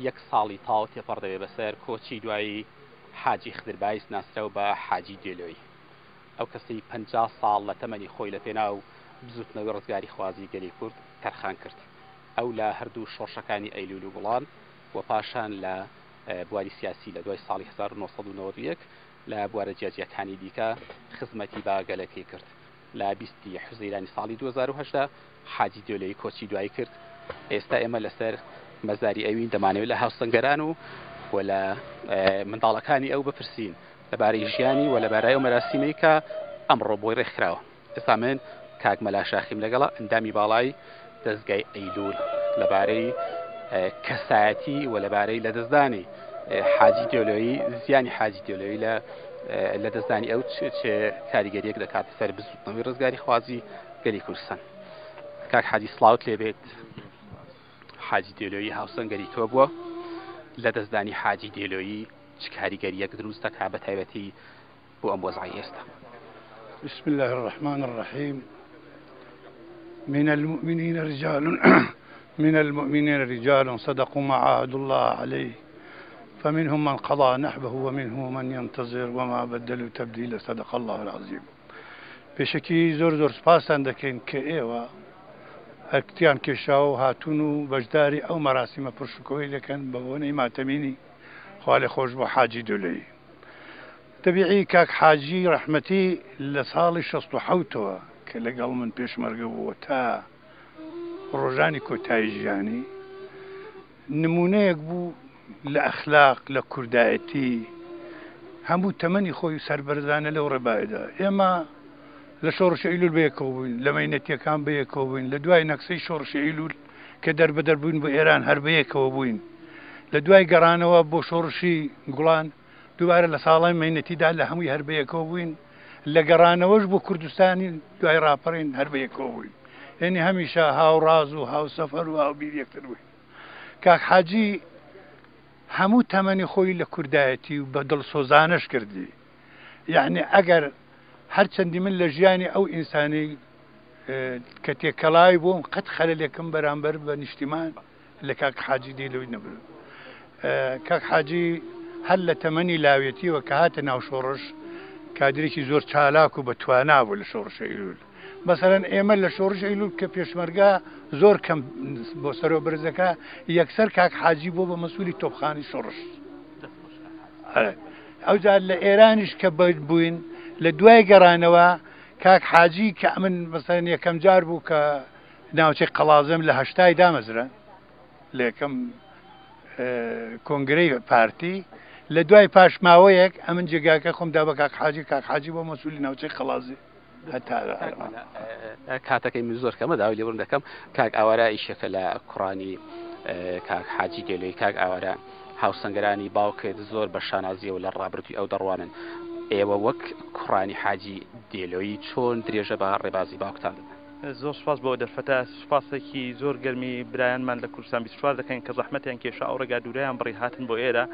یەک ساڵی تەواو تێپەڕ دەبێ بەسەر کۆچی دوایی حاجی خدر بایز ناسراو بە حاجی دێلۆی. ئەو کەسەی 50 ساڵ لە تەمەنی خۆی لە پێناو بزووتنەوەی ڕزگاریخوازی گەلی کورد تەرخان کرد. ئەو لە هەردوو شۆڕشەکانی ئەیلوول و گوڵان و پاشان لە بواری سیاسی لە دوای ساڵی 1991 لە بوارە جیاجیاکانی دیکە خزمەتی بە گەلەکەی کرد. لە 20 ی حوزەیرانی ساڵی 2018 حاجی دێلۆیی کۆچی دوایی کرد. ئێستا ئێمە لەسەر مەزاری ئەوین، دەمانەوێت لە هاوسەنگەران و و لە منداڵەکانی ئەو بپرسین لەبارەی ژیانی و لەبارای ئەو مەراسیمەی کە ئەمڕۆ بۆی ڕێکخراوە. ئێستا من کاک مەلا شاخیم لەگەڵە، ئەندامی باڵای دەزگای ئەیلول، لەبارەی کەسایەتی و لەبارەی لەدەستدانی حاجی دێلۆیی، زیانی حاجی دێلۆیی لە لەدەستدانی ئەو چ کاریگەریەک دەکاتە سەر بزوتنەوەی ڕزگاریخوازی گەلی کوردستان. کاک حاجی سڵاوت لێبێت. حاجی دێلۆیی هاوسەنگەری تۆ بووە، لەدەستدانی حاجی دێلۆیی چ کاریگەریەک دروست دەکات بە تایبەتی بۆ ئەم وەزعەی ئێستا؟ بسم الله الرحمن الرحیم من المؤمنین رجال من المؤمنین رجال صدقوا ما عاهدوا الله عليه فمنهم من قضى نحبه ومنهم من ينتظر وما بدلوا تبديلا صدق الله العظیم. پێشەکی زۆر زۆر سپاستان دەکەین کە ئێوە ئەرکتیان کێشاوە و هاتوون و بەشداری ئەو مەراسیمە پڕشکۆی دەکەن بە بۆنەی ماتەمینی خوالێخۆشبوو حاجی دولەیی. تەبیعی کاک حاجی ڕەحمەتی لە ساڵی 67ەوە کە لەگەڵ من پێشمەرگە بووە تا ڕۆژانی کۆتایی ژیانی نموونەیەک بوو لە ئەخلاق، لە کوردایەتی، هەموو تەمەنی خۆی سەربەرزانە لەو ڕێبایەدا. ئێمە لە شۆڕشی ئەیلوول بەیەکەوە بووین، لە مەینەتییەکان بەیەکەوە بووین، لە دوای نەکسەی شۆڕشی ئەیلوول کە دەربەدەر بووین بۆ ئێران هەر بەیەکەوە بووین. لە دوای گەڕانەوە بۆ شۆڕشی گوڵان دووبارە لە ساڵانی مەینەتیدا لە هەمووی هەر بەیەکەوە بووین، لە گەڕانەوەش بۆ کوردستانی دوای ڕاپەڕین هەر بەیەکەوە بووین. یەنی هەمیشە هاوڕاز و هاوسەفەر و هاوبیر یەکتر بووین. کاک حاجی هەموو تەمەنی خۆی لە کوردایەتی و بە دڵسۆزانەش کردی. یەعنی ئەگەر هەرچەندی من لە ژیانی ئەو ئینسانەی کە تێکەڵاوی بووم قەت خەلەلێکم بەرامبەر بە نیشتیمان لە کاک حاجی دێلۆی نەبرد. کاک حاجی هەر لە تەمەنی لاوێتیەوە کە هاتە ناو شۆڕش کادرێکی زۆر چالاک و بە توانا بوو لە شۆڕشی ئەیلول. مەسەلەن ئێمە لە شۆڕش ئەیلول کە پێشمەرگە زۆر کەم بۆ سەرۆ بەرزەکە یەکسەر کاک حاجی بۆ بە مەسوولی تۆپخانی شۆڕش. ئەوجار لە ئێرانیش کە بووین لە دوای گەڕانەوە کاک حاجی کە ئەمن مەسەلەن یەکەم جار بوو کە ناوچەی قەڵازم لە هەشتای دامەزرا لە یەکەم کۆنگرەی پارتی لە دوای پاش ماوەیەک ئەمن جێگاکە خۆم دا بە کاک حاجی کاک حاجی بۆ مەسوولی ناوچەی قەڵازی هەتا کاتەکەی من زۆر کەمە داوای لێبوردن دەکەم کاک ئاوارە ئیشەکە لە کوڕانی کاک حاجی دێلۆی کاک ئاوارە هاوسەنگەرانی باوکت زۆر بە شانازیەوە لە ڕابردووی ئەو دەڕوانن ئێوە وەک کوڕانی حاجی دێلۆیی چۆن درێژە بە ڕێبازی باوکتان دەدەن؟ زۆر سوپاس بۆ دەرفەتە، سوپاسێکی زۆر گەرمی برایانمان لە کوردستان 24 دەکەین کە زەحمەتیان کێشا ئەو ڕێگا دوورەیان بڕی هاتن بۆ ئێرە.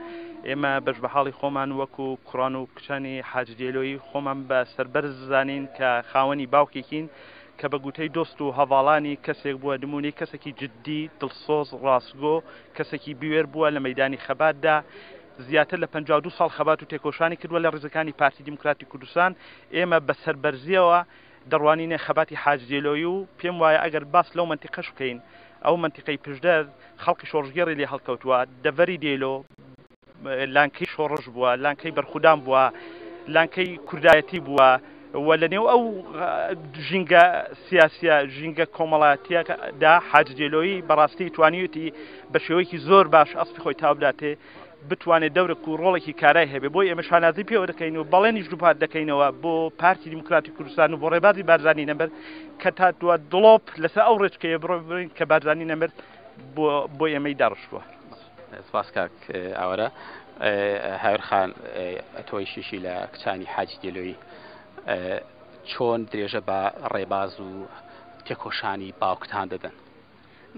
ئێمە بەش بە حاڵی خۆمان وەکو کوڕان و کچانی حاجی دێلۆیی خۆمان بە سەربەرز زانین کە خاوەنی باوکێکین کە بە گوتەی دۆست و هەڤاڵانی کەسێک بووە نموونەی کەسێکی جددی، دڵسۆز، ڕاستگۆ، کەسێکی بوێر بووە لە مەیدانی خەباتدا زیاتر لە 52 ساڵ خەبات و تێکۆشانی کردووە لە ڕیزەکانی پارتی دیموکراتی کوردستان. ئێمە بە سەربەرزییەوە دەڕوانینە خەباتی حاج دێلۆیی و پێم وایە ئەگەر باس لەو مەنتیقەش بکەین ئەو مەنتیقەی پشدەر خەڵکی شۆڕشگێڕی لێ هەڵکەوتووە، دەڤەری دێلۆ لانکەی شۆڕش بووە، لانکەی بەرخودان بووە، لانکەی کوردایەتی بووە و لە نێو ئەو ژینگە سیاسیە ژینگە کۆمەڵایەتیەدا حاج دێلۆیی بەڕاستی توانیویەتی بە شێوەیەکی زۆر باش ئەسپی خۆی تاو بداتێ بتوانێت دەورێک و ڕۆڵێکی کارای هەبێ بۆی ئێمە شانازی پێوە دەکەین و بەڵێنیش دووپات دەکەینەوە بۆ پارتی دیموکراتی کوردستان و بۆ ڕێبازی بارزانی نەمر کە تا دوا دڵۆپ لەسەر ئەو ڕێچکەیە بڕۆین کە بارزانی نەمر بۆ بۆ ئێمەی داڕشتووە. سپاس کاک ئاوارە. هاوێر خان ئەتۆی شیشی لە کچانی حاجی دێلۆیی چۆن درێژە بە ڕێباز و تێکۆشانی باوکتان دەدەن؟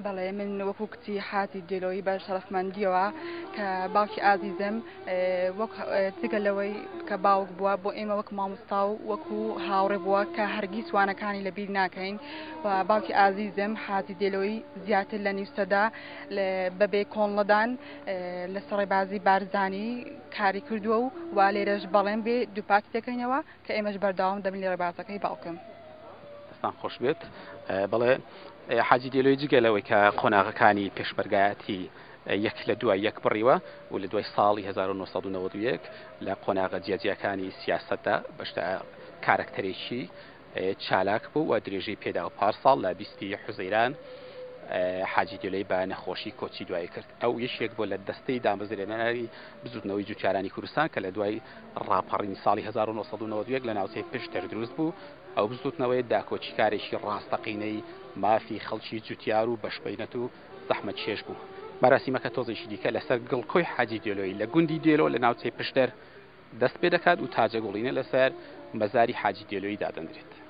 بەڵێ من وەکو کچی حاجی دێلۆیی بە شەرەفمەندیەوە کە باوکی ئازیزم وەک جگە لەوەی کە باوک بووە بۆ ئێمە وەک مامۆستا و وەکو هاوڕێ بووە کە هەرگیز وانەکانی لەبیر ناکەین و باوکی ئازیزم حاجی دێلۆیی زیاتر لە نیو سەدە بەبێ کۆڵنەدان لەسەر ڕێبازی بارزانی کاری کردووە و وا لێرەش بەڵێن بێ دووپاتی دەکەینەوە کە ئێمەش بەردەوام دەبین لە ڕێبازەکەی باوکم. دەستان خۆش بێت. بەڵێ حاجی دێلۆی جگە لەوەی کە قۆناغەکانی پێشمەرگایەتی یەک لە دوای یەک بڕیوە و لە دوای ساڵی 1991 لە قۆناغە جیاجیاکانی سیاسەتدا بەشدا کارەکتەرێکی چالاک بوو و درێژەی پێدا و پارساڵ لە بیستی حوزەیران حاجی دێلۆی بە نەخۆشی کۆچی دوایی کرد. ئەو یەکێک بووە لە دەستەی دامەزرێنەری بزوتنەوەی جوتیارانی کوردستان کە لە دوای ڕاپەڕینی ساڵی 1991 لە ناوچەی پشدەر دروست بوو. ئەو بزوتنەوەیە داکۆکیکارێکی ڕاستەقینەی مافی خەڵکی جوتیار و بەشبەینەت و زەحمەتکێش بوو. مەراسیمەکە تۆزێکی دیکە لەسەر گڵکۆی حاجی دێلۆیی لە گوندی دێلۆ لە ناوچەی پشدەر دەست پێدەکات و تاجەگوڵینە لەسەر مەزاری حاجی دێلۆیی دادەنرێت.